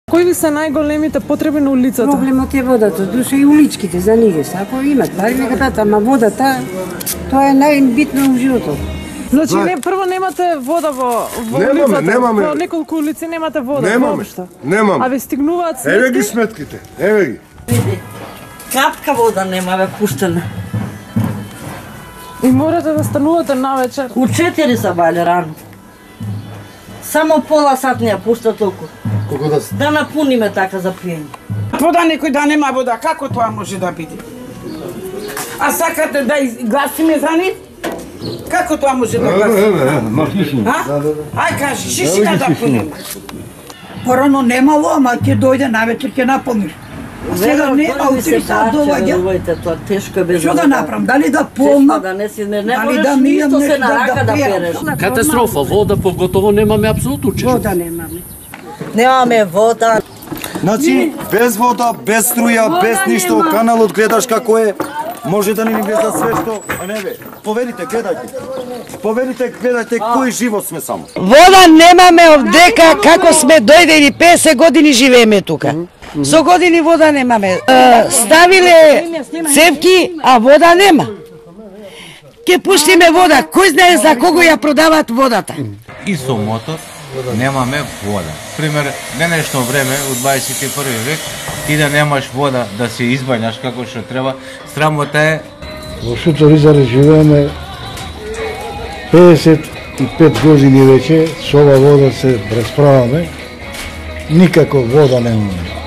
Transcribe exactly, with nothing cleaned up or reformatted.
Кои ви се најголемите потреби на улицата? Проблемот е водата, душа и уличките за ниве. Ако имат пари нека дадат, ама водата тоа е најбитно во животот. Значи не прво немате вода во во немаме, улицата. Немаме. Во неколку улици немате вода. Немаме. Немаме. А ве стигнуваат сметки? Еве ги сметките. Еве ги. Капка вода немаме пуштена. И морате да станувате навечер. У четири са бајле рано. Само пола сат не ја пушта толку. Колку да Да напуниме така за пиење. Вода некој да нема вода, како тоа може да биде? А сакате да гласиме за нив? Како тоа може да гласиме? Ај кажи, шишина да пуниме. Порано немало, ама ќе дојде навечер ќе напомниш. А сега не, а утре сад доаѓа. Тоа тешко е без Што да направам? Дали да помна? Да не си не, не Дали можеш да мијам ништо се нешто на рака да да перам? переш. Катастрофа, вода поготово немаме апсолутно чешто. Вода немаме. Немаме вода. Значи, без вода, без струја, без ништо, каналот гледаш како е, може да не ни влеза све што, а не бе, поверите, гледајте. Поверите, гледајте кој живот сме само. Вода немаме овдека како сме дојдени песет години живееме тука. Со години вода немаме. Ставиле цевки, а вода нема. Ке пуштиме вода, кој знае за кого ја продаваат водата. И со мотор немаме вода. Пример, денешно време, у дваесет и први век, ти да немаш вода да се избањаш како што треба, срамота е. Во Суторизаре живееме песет и пет години веќе, со ова вода се расправаме, никако вода немаме.